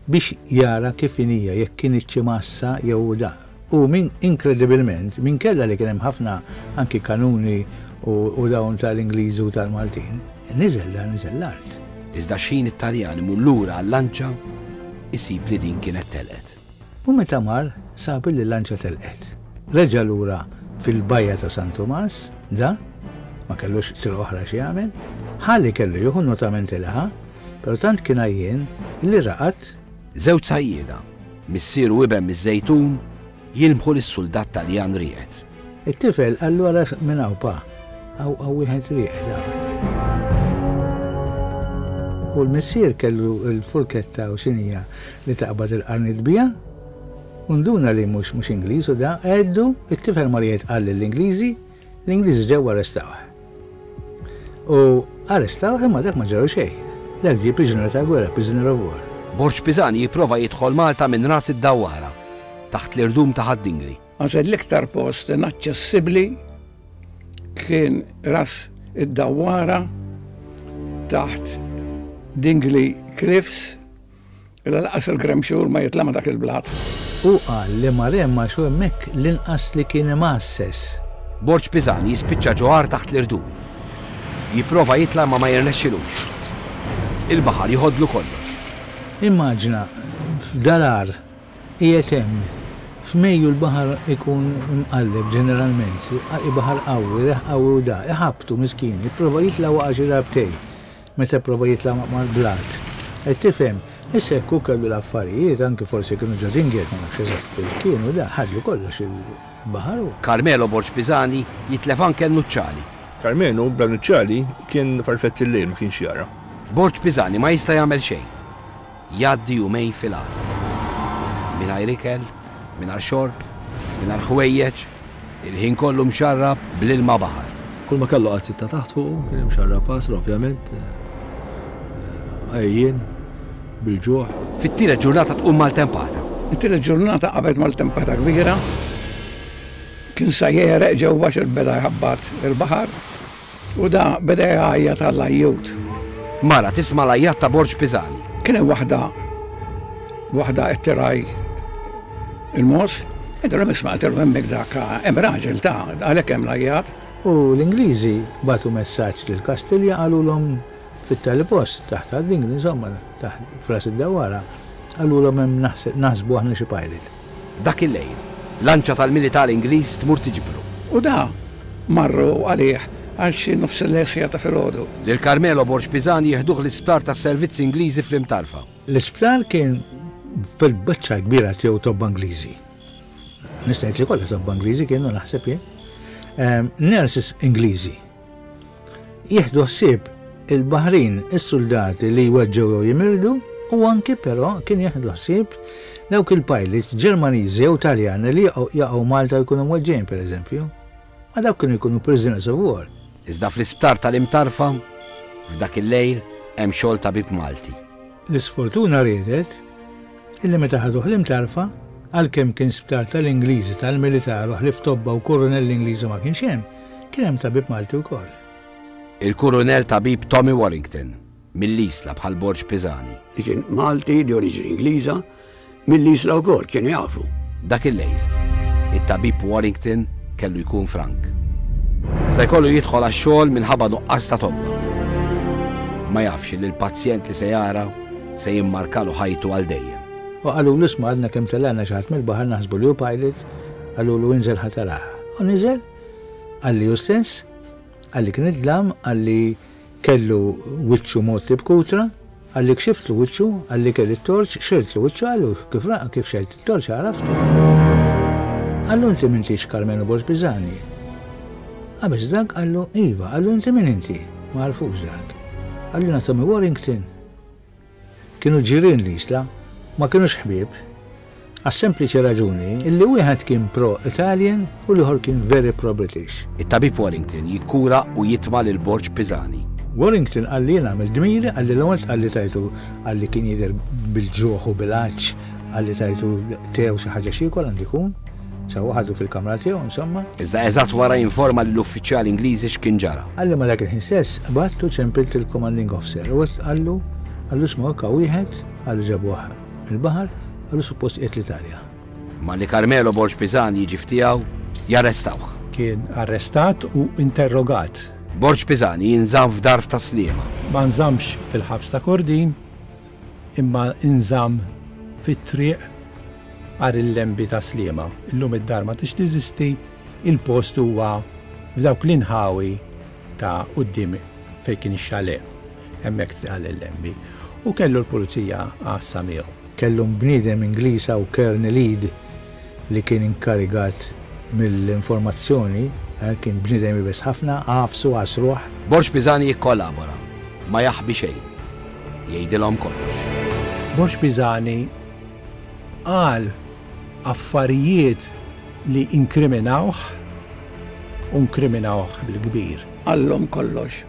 biex jara kif inhija, jekk kien xi massa jew da. U min inkredibilment, min kella li kien hemm ħafna anki kanuni u, u dawn tal-Ingliżi u tal-Maltin, niżel da, niżel l-art. Iżda x'ħin it-Taljan imur lura għal-lanċa, isib li din kienet telqet. U meta mar, sab li l-lanċa telqet. Reġa' lura fil-bajja ta' San Tomas, da, ma kellux triq oħra xi jagħmel, ħalli kellu jieħu notament il-ħa, però tant kien għajjien li raqad. Żewġ sajjieda, missier u iben miż-Żejtun, jilmħu lis-suldat Taljan rieqed. It-tifel qallu ara minn hawn pa, hawn hawn wieħed rieqed hawn. U l-missier kellu l-furketta u xinija li taqbad il-qarnit bija, u nduna li mhux, mhux Ingliż u da, għeddu, it-tifel mar jgħid qal lill-Ingliżi, l-Ingliżi ġew arrestawh. U arrestawh imma dak ma ġralu xejn. Dak ġie priġunier ta' gwerra, prisoner of war. Borg Pisani jipprova jidħol Malta minn ras id-dawwara, taħt l-irdum ta' Ħad-Dingli. Għax l-iktar post inaċċessibbli kien ras id-dawwara taħt Dingli Cliffs, illa laqas il-gremxur ma jitla' ma' dak il-blat. U qal li mar hemm għax hu hemmhekk l-inqas li kien imgħasses. Borg Pisani jispiċċa ġoħar taħt l-irdum. Jipprova jitla' ma ma jirnexxilux. Il-baħar jħodlu kollox. Immaġina, f'dalar qiegħed hemm, f'Mejju l-baħar ikun imqalleb ġeneralment, baħar qawwi, reħ qawwi u da, iħabtu miskin, jipprova jitla' waqa' xi darbtejn, meta prova jitla' mal-blat. Qed tifhem, issa jekk hu kellu l-affarijiet, anki forsi kienu ġo dinghiet, ma nafx eżatt fejn kienu, da, ħadlu kollox il-baħar u. Carmelo Borg Pisani jitlef anke n-nuċċali. Carmelo bla nuċċali kien farfett il-lejl, ma kienx jara. Borg Pisani ma jista' jagħmel xejn. Jgħaddi jumejn fil-għar. Mingħajr ikel, mingħajr xorb, mingħajr ħwejjeġ, il-ħin kollu mxarrab bl-ilma baħar. Kull ma kellu qatt sitta taħt fuqu, kien imxarrab pasr, ovvjament, eh, għajjien, bil-ġuħ. Fit-tielet ġurnata tqum maltempata. It-tielet ġurnata qabel maltempata kbira, kien sa jereq ġewwa xi beda jħabbat il-baħar u da beda jgħajjat għall-ajjut. Mara tisma' l-ajjat ta' Borg Pisani. Kien hemm waħda, waħda qed tiraj il-mos, Għedtilhom isma' għedtilhom hemmhekk dak hemm raġel ta' għalhekk hemm l-għajjat. U l-Ingliżi bagħtu messaġġ lil Kastilja, qalulhom fit-tali post taħt għad-Dingli, insomma, taħt f'Ras id-Dawwara, qalulhom hemm naħsbu aħna xi pilot. Dak il-lejl, lanċa tal-militar Ingliż tmur tiġbru. U da marru għalih għal xi nofs il-lesja ta' filgħodu. Lil Carmelo Borg Pisani jieħduh l-isptar tas-servizzi Ingliżi fl-Imtarfa. L-isptar kien fil-biċċa kbira tiegħu tobba Ingliżi. Nista' ngħid li kollha tobba Ingliżi kienu, naħseb jien. Nurses Ingliżi. Jieħdu ħsieb il-baħrin, is-soldati li jweġġew jew jimirdu, u anki però kien jieħdu ħsieb dawk il-pilots Ġermaniżi jew Taljani li jaqgħu Malta jkunu mweġġejn, pereżempju. Ma dawk kienu jkunu prisoners of war. Iżda fl-isptar tal-Imtarfa, f'dak il-lejl, hemm xogħol tabib Malti. L-isfortuna riedet illi meta ħaduh l-Imtarfa, għalkemm kien sptar tal-Ingliżi tal-militar u ħlief tobba u kurunell Ingliżi ma kienx hemm, kien hemm tabib Malti wkoll. Il-kurunell tabib Tommy Warrington, mill-Isla bħal Borg Pisani. Kien Malti di oriġini Ingliża, mill-Isla wkoll kienu jafu. Dak il-lejl, it-tabib Warrington kellu jkun frank. Iżda jkollu jidħol għax-xogħol minħabba nuqqas ta' tobba. Ma jafx li l-pazjent li se jara se jimmarkalu ħajtu għal dejjem. U qalulu isma' għadna kemm telgħana xi ħadd mill-baħar naħsbu li hu pilot, qalulu inżel ħa taraha. U niżel, qalli hu stess, qalli kien id-dlam, qalli kellu wiċċu motti b'kutra, qalli kxiftlu wiċċu, qalli kelli t-torċ, xeltlu wiċċu, qallu kif ra-, kif xelt it-torċ għaraftu. Qallu inti m'intix Carmelo Borg Pisani. Qabeż dak, qallu iva, qallu inti min inti? Ma għarfux dak. Qallu jiena Tommy Warrington. Kienu ġirien l-Isla, ma kienux ħbieb, għas-sempliċi raġuni illi wieħed kien pro-Italian u l-ieħor kien very pro-British. It-tabib Warrington jikkura u jitma' lil Borg Pisani. Warrington qalli jiena għamilt dmiri, qalli l-ewwel qalli tajtu, qalli kien jidher bil-ġuħ u bil-għatx, qalli tajtu tew xi ħaġa x'jiekol għandu jkun. Sawa ħadu fil-kamra tiegħu, insomma. Iżda eżatt wara jinforma lill-uffiċjali Ingliżi x'kien ġara. Qalli ma dak il-ħin stess battu ċempilt il-commanding officer u qallu, qallu isma' hekk wieħed, qallu ġabuh mill-baħar, qallu suppost qiegħed l-Italja. Ma li Carmelo Borg Pisani jiġi ftiegħu, jarrestawh. Kien arrestat u interrogat. Borg Pisani jinżamm f'dar ta' Sliema. Ma nżammx fil-ħabs ta' Kordin, imma nżamm fit-triq għar il-lembi ta' Sliema. Illum id-dar ma tix teżisti, il-post huwa f'dawk l-inħawi ta' quddiem fejn kien ix-xale, hemmhekk triq għal il-lembi. U kellu l-pulizija għassa miegħu. Kellu bniedem Ingliż u Colonel Eid li kien inkarigat mill-informazzjoni, eh, kien bniedem iebes ħafna, għafsu għasruh. Borg Pisani jikkollabora, ma jaħbi xejn, jgħidilhom kollox. Borg Pisani qal affarijiet li inkriminawh u inkriminawh bil-kbir. Qallhom kollox.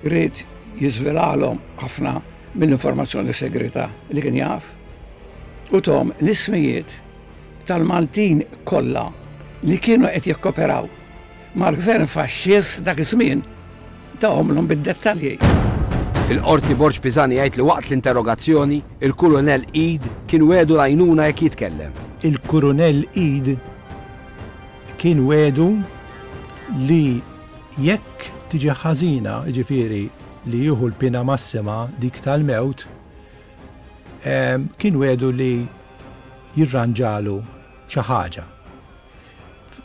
Ried jiżvelalhom ħafna mill-informazzjoni segreta li kien jaf u tom l-ismijiet tal-Maltin kollha li kienu qed jikkoperaw mal-gvern faxxist dak iż-żmien, tahomlhom bid-dettalji. Fil-qorti Borg Pisani jgħid li waqt l-interrogazzjoni il-Kurunell Eid kien wedu l-għajnuna jekk jitkellem. Il-Kurunell Eid kien wedu li jekk tiġi ħażina, jiġifieri li jieħu l-pina massima dik tal-mewt, em, kien wedu li jirranġalu xi ħaġa.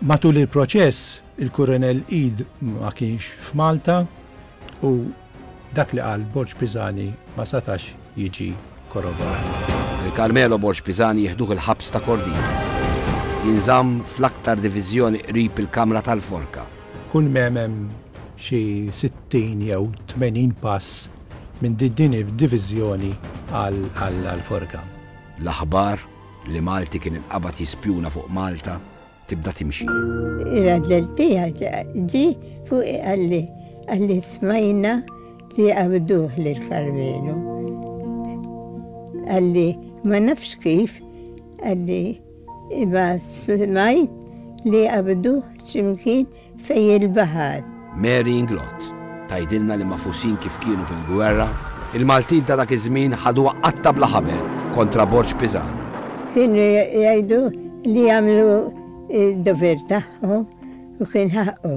Matul il-proċess, il-Kurunell Eid ma kienx f'Malta u dak li qal Borg Pisani ma setax jiġi korroborat. Il-Carmelo Borg Pisani jieħduh il-ħabs ta' Kordin. Jinżamm fl-aktar diviżjoni qrib il-Kamra tal-Forka. Kull m'hemm hemm xi sittin jew tmenin pass minn din id-diviżjoni għal-forka. L-aħbar li Malti kien inqabad jispjuna fuq Malta tibda timxi. Ir-raġel tiegħi ġie fuq qalli, qalli smajna li qabduh lil Carmelo. Qalli ma nafx kif, qalli imma smajt li qabduh x'imkien fej il-baħar. Mary Inglott tgħidilna li mafusin kif kienu bil-gwerra, il-Maltin ta' dak iż-żmien ħaduha qatta bla ħabel kontra Borg Pisani. Kienu jgħidu li jagħmlu id-dover tagħhom u kien ħaqqu.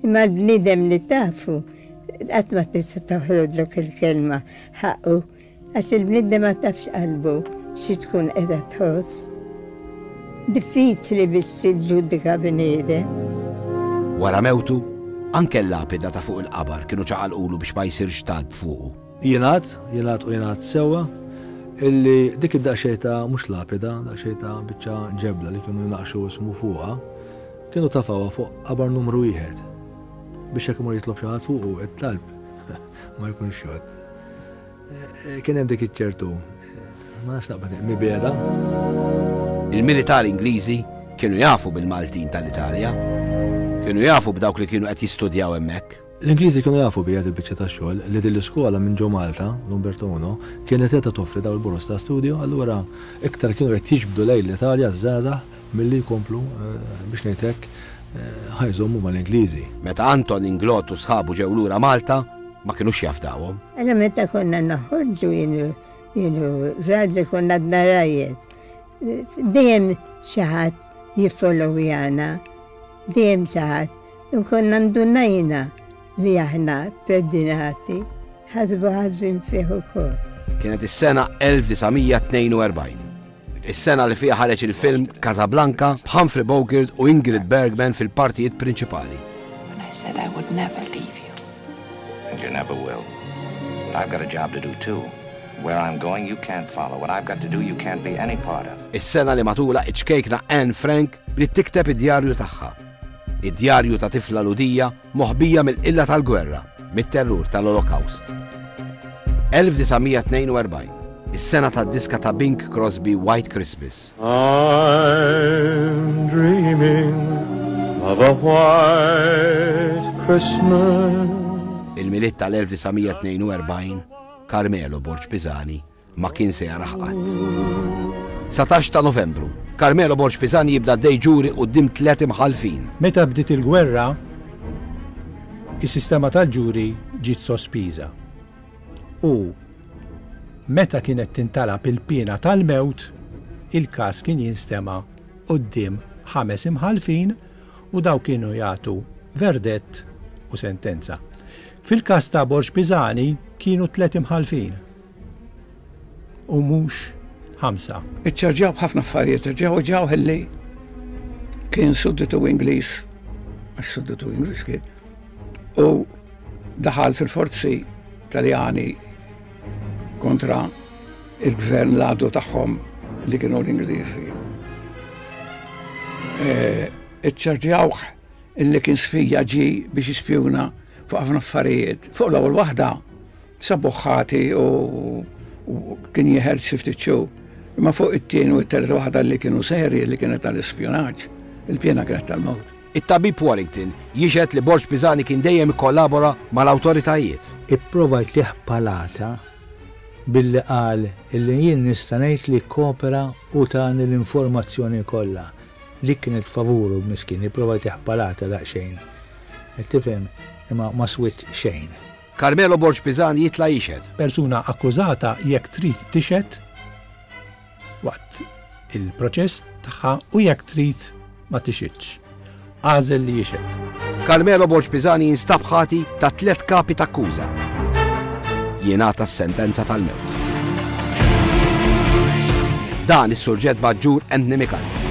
Imma l-bniedem li tafu qatt ma tista' toħroġlok il-kelma ħaqqu għax il-bniedem ma tafx qalbu xi tkun qiegħda tħoss. Diffiċli biex tiġġudika bniedem. Wara mewtu, anke l-lapida ta' fuq il-qabar kienu ċaqalqulu biex ma jsirx talb fuqu. Jingħad, jingħad u jingħad sewwa illi dik id-daqsxejn ta' mhux lapida, daqsxejn ta' biċċa ġebla li kienu jnaqxu ismu fuqha, kienu tafawha fuq qabar numru wieħed. Biex jekk imur jitlob xi ħadd fuqu it-talb ma jkunx xott. Kien hemm dik iċ-ċertu, ma nafx naqbad mibeda. Il-militari Ingliżi kienu jafu bil-Maltin tal-Italja. Kienu jafu b'dawk li kienu qed jistudjaw hemmhekk. L-Ingliżi kienu jafu bija il-biċċa tax-xogħol li din l-iskola minn ġo Malta, l-Umberto Uno, kienet qed toffri daw il-boros ta' studju, allura iktar kienu qed jiġbdu lejn l-Italja żgħażagħ milli jkomplu biex ngħid hekk ħajżommu mal-Ingliżi. Meta Anton Inglott u sħabu ġew lura Malta, ma kinux jafdawhom. Għala meta konna noħorġu jienu raġel konna għadna rajiet. Dejjem xi ħadd jiffollowjana, dejjem xi ħadd. U konna ndunajna li aħna pedinati, ħasbu ħażin fih ukoll. Kienet is-sena elf disa' mija tnejn u erbgħin. Is-sena li fiha ħareġ il-film Casablanca b'Humphrey Bogart u Ingrid Bergman fil-partijiet prinċipali. When I said I would never leave you. And you never will. But I've got a job to do too. Where I'm going you can't follow. What I've got to do you can't be any part of. Is-sena li matula iċ-ċkejkna Anne Frank bdiet tikteb id-djarju tagħha. Id-djarju ta' tifla Lhudija moħbija mill-qilla tal-gwerra, mit-terrur tal-Olokawst. elf disa' mija tnejn u erbgħin, is-sena tad-diska ta' Bing Crosby White Christmas. I'm dreaming of a white Christmas. Il-Milied tal-elf disa' mija tnejn u erbgħin, Carmelo Borg Pisani ma kien se jaraħ qatt. Satax ta' Novembru, Carmelo Borg Pisani jibda dej ġuri quddiem tliet imħallfin. Meta bdiet il-gwerra, is-sistema tal-ġuri ġiet sospiża. U meta kienet tintalab il-piena tal-mewt, il-każ kien jinstema' quddiem ħames imħallfin u daw kienu jagħtu verdett u sentenza. Fil-każ ta' Borg Pisani kienu tliet imħallfin u mhux ħamsa. Iċċarġaw b'ħafna affarijiet, ġew ġew ħilli kien sudditu Ingliż, għax sudditu Ingliż kien, u daħal fil-forzi Taljani kontra il-gvern l-għadu tagħhom li kienu l-Ingliżi. E, iċċarġawh illi kien sfija ġi biex jispjuna fuq ħafna affarijiet. Fuq l-ewwel waħda sabuh ħati u, u kien jeħel xi ftit xhur. Imma fuq it-tieni u t-tielet waħda li kienu serji li kienet tal-ispjunaġġ, il-pjena kienet tal-mewt. It-tabib Warrington jixhed li Borg Pisani kien dejjem ikkollabora mal-awtoritajiet. Ipprova jtih palata billi qal illi jien nista' ngħid li kkopera u tani l-informazzjoni kollha li kienet favuru miskin, ipprova jtih palata daqsxejn. Qed tifhem, imma ma swit xejn. Carmelo Borg Pisani jitla' jixhed. Persuna akkużata jekk trid tixhed waqt il-proċess tagħha u jekk trid ma tixhidx. Għażel li jixhed. Carmelo Borg Pisani jinstab ħati ta' tliet kapi ta' akkuża. Jingħata s-sentenza tal-mewt. Dan is-surġent maġġur Anthony Micallef.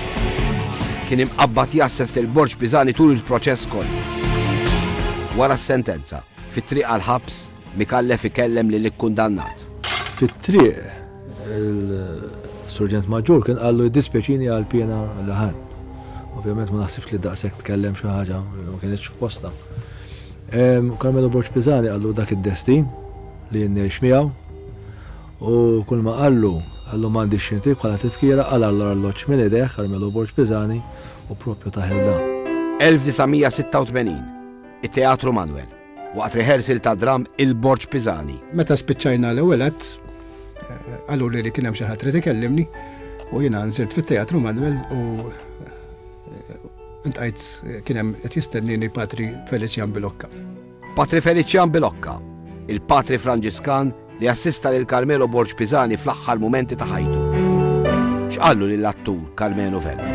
Kien imqabbad jasses lil Borg Pisani tul il-proċess kollu. Wara s-sentenza, fit-triq għall-ħabs, Micallef ikellem lil ikkundannat. Fit-triq, il-surġent maġġur kien qallu jiddispjaċini għal pjena li ħadd. Ovvjament ma naħsibx li daqshekk tkellem xi ħaġa li ma kienx f'posta. Em, Carmelo Borg Pisani qallu dak id-destin li jien ngħix miegħu u kull ma qallu, qallu m'għandix xi ntib bħala tifkira, qala l-arloġġ minn idejh Carmelo Borg Pisani u propju ta' ħilda. elf disa' mija sitta u tmenin, it-Teatru Manuel, waqt rehearsal ta' dram il-Borg Pisani. Meta spiċċajna l-ewwel att, qalu li li kien hemm xi ħadd irid ikellimni u jiena nżilt fit-Teatru Manuel u intqajt kien hemm qed jistennini Patri Felician Bilocca. Patri Felician Bilocca, il-Patri Franġiskan li assista lil Carmelo Borg Pisani fl-aħħar mumenti ta' ħajtu? X'qallu lill-attur Karmenu Vella?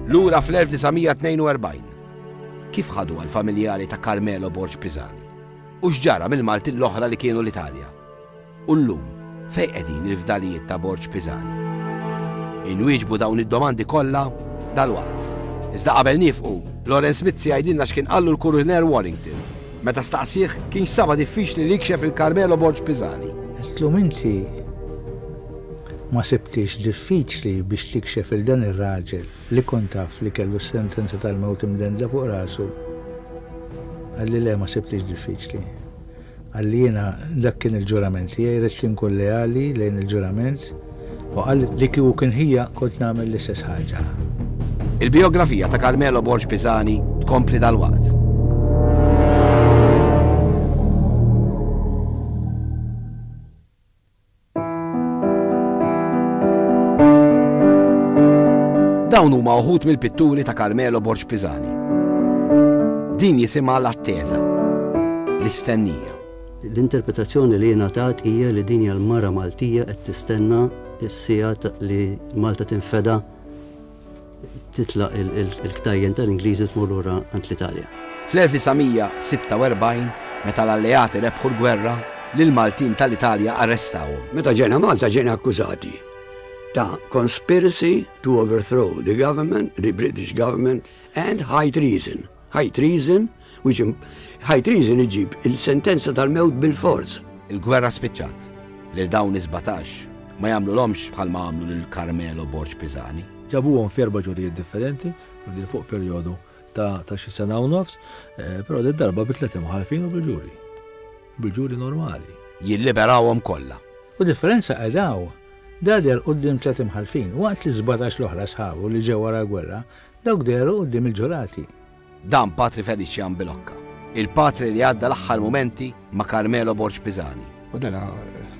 Lura fl-elf disa' mija tnejn u erbgħin, kif ħadu għall-familjari ta' Carmelo Borg Pisani? U x'ġara mill-Maltin l-oħra li kienu l-Italja? U llum, fejn qegħdin il-fdalijiet ta' Borg Pisani? Inwieġbu dawn id-domandi kollha dalwaqt. Iżda qabel niefqu, Lawrence Mizzi jgħidilna x'kien qallu l-Kuriner Warrington meta staqsih kienx saba diffiċli li jikxef il Carmelo Borg Pisani. Għedtlu inti ma sibtix diffiċli biex tikxef il dan ir-raġel li kont taf li kellu s-sentenza tal-mewt imdendla fuq rasu. Qalli le, ma sibtix diffiċli. Qalli jiena dak kien il-ġurament tiegħi, ridt inkun leali lejn il-ġurament, u qalli li kieku kien ħija kont nagħmel l-istess ħaġa. Il-bijografija ta' Carmelo Borg Pisani tkompli dalwaqt. Dawn huma uħud mill-pitturi ta' Carmelo Borg Pisani. Din jisimha l-attesa, l-istennija. L-interpretazzjoni li ngħatat hija li din hija l-mara Maltija qed tistenna s-siegħa li Malta tinfeda titlaq il-ktajjen tal-Ingliżi tmur lura għand l-Italja. Fl-elf disa' mija sitta u erbgħin, meta l-alleati rebħu l-gwerra, lill-Maltin tal-Italja arrestawhom. Meta ġejna Malta ġejna akkużati ta' conspiracy to overthrow the government, the British government, and high treason. High treason, which high treason iġib il-sentenza tal-mewt bil-forz. Il-gwerra spiċċat. Lil dawn is-sbatax ma jagħmlulhomx bħalma għamlu lil Carmelo Borg Pisani. Ġabuhom f'erba' ġurijiet differenti, u din fuq perjodu ta', ta' xi sena u nofs, eh, però din darba bi tliet imħallfin u bil-ġuri. Bil-ġuri normali. Jilliberawhom kollha. U differenza qedaw, da deher quddiem tliet imħallfin, waqt li sbatax l-oħra sħabu li ġew wara l-gwerra, dawk dehru quddiem il-ġurati. Dan Patri Felician Bilocca, il-patri li għadda l-aħħar mumenti ma' Carmelo Borg Pisani. U dana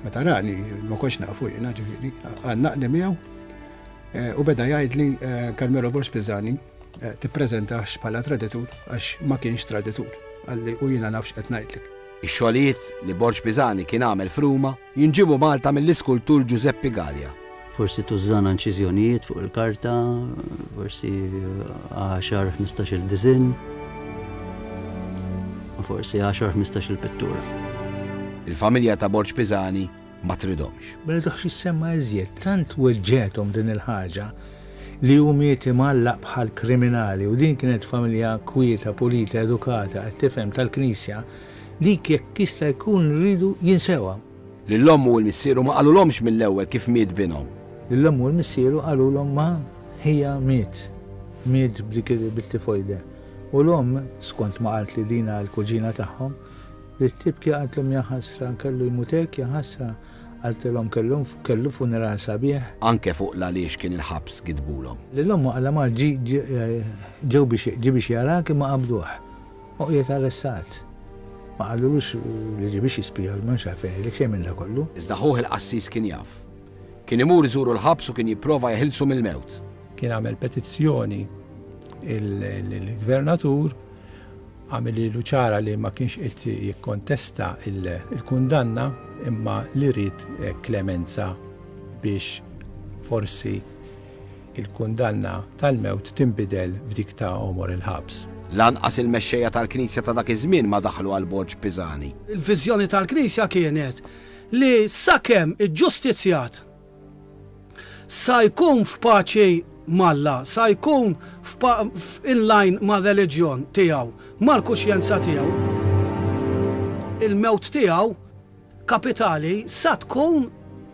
meta rani ma kontx nafu jiena, ġifieri, għannaqni miegħu, eh, u beda jgħidli, eh, Carmelo Borg Pisani, eh, tippreżentax bħala traditur għax ma kienx traditur, qalli u jiena nafx qed ngħidlek. Ix-xogħlijiet li Borg Pisani kien għamel f'Ruma jinġibu Malta mill-iskultur Giuseppe Galea. Forsi tużżana inċiżjonijiet fuq il-karta, forsi għaxar, ħmistax il-diżinn, u forsi għaxar, ħmistax il-pittura. Il-familja ta' Borg Pisani ma tridomx. Ma rridux jissemma iżjed, tant weġġetom din il-ħaġa li hu miet imgħallaq bħal kriminali, u din kienet familja kwieta, pulita, edukata, qed tifhem tal-Knisja, dik jekk jista' jkun rridu jinsewha. Lill-ommu u l-missieru ma qalulhomx mill-ewwel kif miet binhom. Lill-ommu u l-missieru qalulhom ma ħija miet, miet b'dik bit-tifojde. U l-omm, skont ma qalt li dina l-kuġina tagħhom, li tibki qaltlhom ja ħasra kellu jmut hekk, ja ħasra, qaltilhom kellu, kellu funeral sabiħ. Anke fuq l-għaliex kien il-ħabs gidbulhom. Lill-ommu qala ma ġi, ġi, ġew biex, ġi biex jarak imma qabduh. U qiegħed arrestat. Ma qalulux li ġi biex jispija, ma nafx għalfejn, li xejn minn da kollu. Iżda ħuh il-qassis kien jaf. Kien imur iżuru l-ħabs u kien jipprova jeħilsu mill-mewt. Kien għamel petizzjoni il-gvernatur, għamel lilu ċara li ma kienx qed jikkontesta il-, il-kundanna imma li ried, eh, klemenza biex forsi il-kundanna tal-mewt tinbidel f'dik ta' għomor il-ħabs. Lanqas il-mexxejja tal-Knisja ta' dak iż-żmien ma daħlu għal Borg Pisani. Il-viżjoni tal-Knisja kienet li sakemm iġġustizzjat sa jkun f'paċi malla, sa jkun f'pa-, in line ma' reliġjon tiegħu, mal-kuxjenza tiegħu, il-mewt tiegħu kapitali sa tkun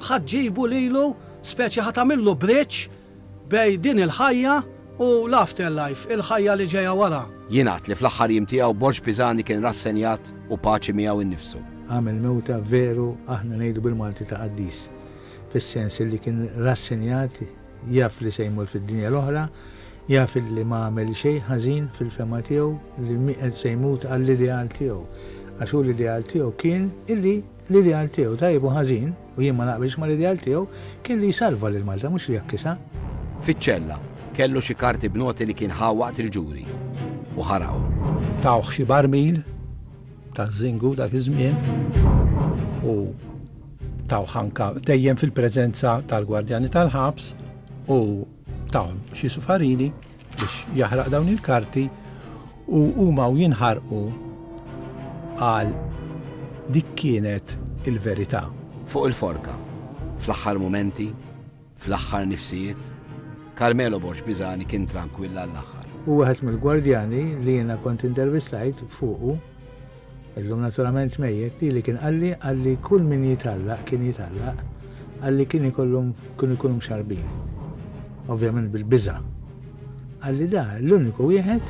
ħaġġibu lilu speċi ħatamillu bridge bej din il-ħajja u l-afterlife, il-ħajja li ġejja wara. Jingħad li fl-aħħar jiem tiegħu Borg Pisani kien rassenjat u paċi miegħu innifsu. Għamel mewta veru aħna ngħidu bil-Malti ta' qaddis, fis-sens li kien rassenjat, jaf li se jmur fid-dinja l-oħra, jaf li ma għamel xejn ħażin fil-fema tiegħu, li mi-, se jmut għall-ideal tiegħu. Għax hu l-ideal tiegħu kien illi l-ideal tiegħu tajjeb u ħażin, u jien ma naqbilx mal-ideal tiegħu, kien li jsalva lil Malta mhux li jakkisha. Fiċ-ċella kellu xi karti b'noti li kien ħa waqt il-ġuri u ħaraqhom. Tawh xi barmil ta' żingu dak iż-żmien. U taw ħanka dejjem fil-preżenza tal-gwardjani tal-ħabs u taw xi sufarini biex jaħraq dawn il-karti u huma u jinħarqu għal dik kienet il-verità. Fuq il-forka, fl-aħħar mumenti, fl-aħħar nifsijiet, Carmelo Borg Pisani kien tranquilla l-aħħar. U wieħed mill-gwardjani li jiena kont intervistajt fuqu, illum naturalment mejjet, li li kien qalli qalli kull min jitallaq kien jitallaq, qalli kien ikollhom kienu jkunu mxarbin. Ovvjament bil-biża'. Qalli da l-uniku wieħed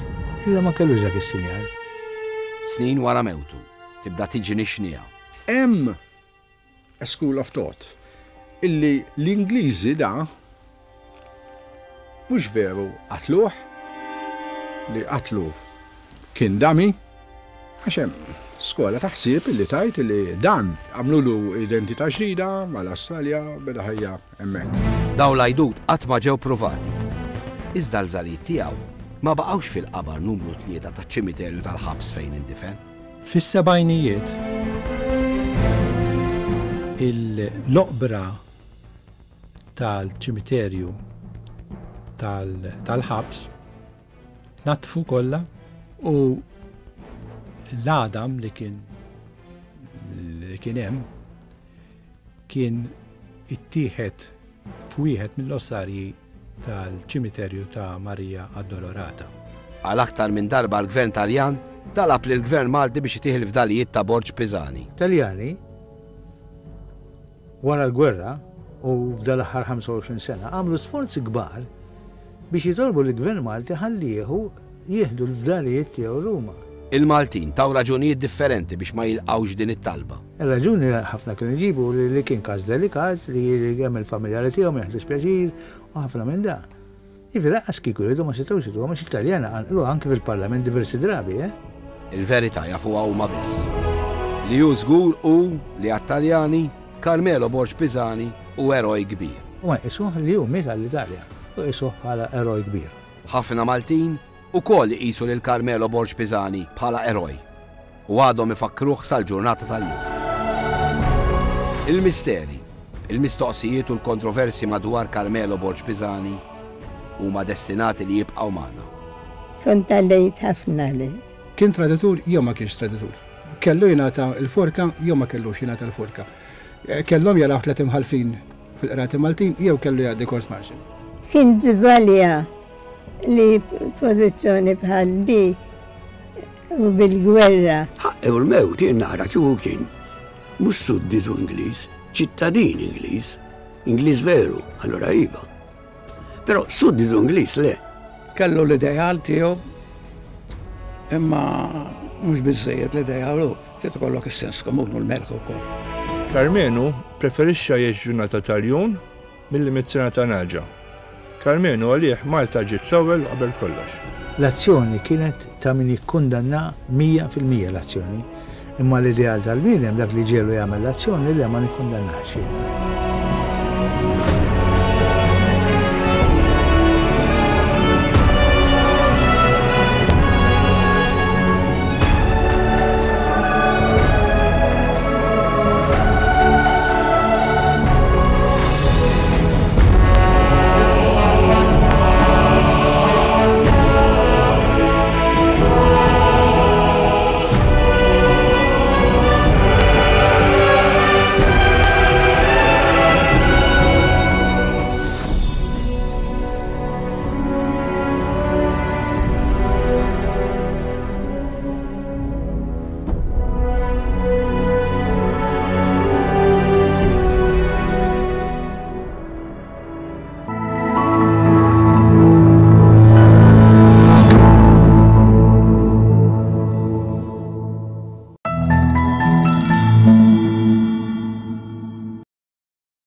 illa ma kellux dak is-sinjal. Snin wara mewtu, tibda tiġi nixnija. Hemm a school of thought illi l-Ingliżi da mhux veru qatluh, li qatlu kien dami, għax hemm skola ta' ħsieb illi tajt illi dan għamlulu identità ġdida mal-Awstralja beda ħajja hemmhekk. Dawn l-għajdut qatt ma ġew pruvati. Iżda l-fdalijiet tiegħu ma baqgħux fil-qabar numru tlieta taċ-ċimiterju tal-ħabs fejn indifen. Fis-sebgħinijiet l-oqbra tal-ċimiterju tal-ħabs natfu kollha u l-għadam li kien li kien hemm kien ittieħed f'wieħed mill-ossarji tal-ċimiterju ta' Marija Addolorata. Għal aktar minn darba l-Gvern Taljan talab lill-Gvern Malti biex itih il-fdalijiet ta' Borg Pisani. Taljani wara l-gwerra u f'dal-aħħar ħamsa u għoxrin sena għamlu sforzi kbar biex jitolbu l-Gvern Malti ħalli jieħu jieħdu l-fdalijiet tiegħu Ruma. Il-Maltin taw raġunijiet differenti biex ma jilqawx din it-talba. Ir-raġuni li ħafna kienu jġibu li, li kien każ delikat, li hemm il-familjari tiegħu ma jaħdux pjaċir u ħafna minn da. Jiġifieri lanqas kieku jridu ma setgħux jridu, għax it-Taljana qanqlu anke fil-Parlament diversi drabi, eh? Il-verità jafuha huma biss. Li hu żgur hu li għat-Taljani Carmelo Borg Pisani hu eroj kbir. U ma jqisuh li hu miet għall-Italja, u jqisuh bħala eroj kbir. Ħafna Maltin ukoll iqisu lil Carmelo Borg Pisani bħala eroj u għadhom ifakkruh sal-ġurnata tal-lum. Il-misteri, il-mistoqsijiet u l-kontroversi madwar Carmelo Borg Pisani huma destinati li jibqgħu magħna. Kont għallejt ħafna li. Kien traditur jew ma kienx traditur. Kellu jingħata l-forka jew ma kellux jingħata l-forka. Kellhom jaraw tliet imħalfin fil-qrati Maltin jew kellu jgħaddi court martial. Kien żbalja li pożizzjoni bħal di u bil-gwerra. Ħaqqew l-mewt jien nara ċuhu kien mhux sudditu Ingliż, ċittadin Ingliż, Ingliż veru, allura iva. Però sudditu Ingliż le. Kellu l-ideal tiegħu imma mhux biżżejjed l-ideal hu, trid ikollok is-sens komun u l-mertu wkoll. Karmenu preferixxa jgħix ġurnata tal-jun milli mitt sena ta' naġa. Karmenu għalih Malta ġiet l-ewwel u qabel kollox. L-azzjoni kienet ta' min jikkundanna mija fil-mija l-azzjoni, imma l-ideal tal-bniedem dak li ġelu jagħmel l-azzjoni li ma nikkundannax jiena.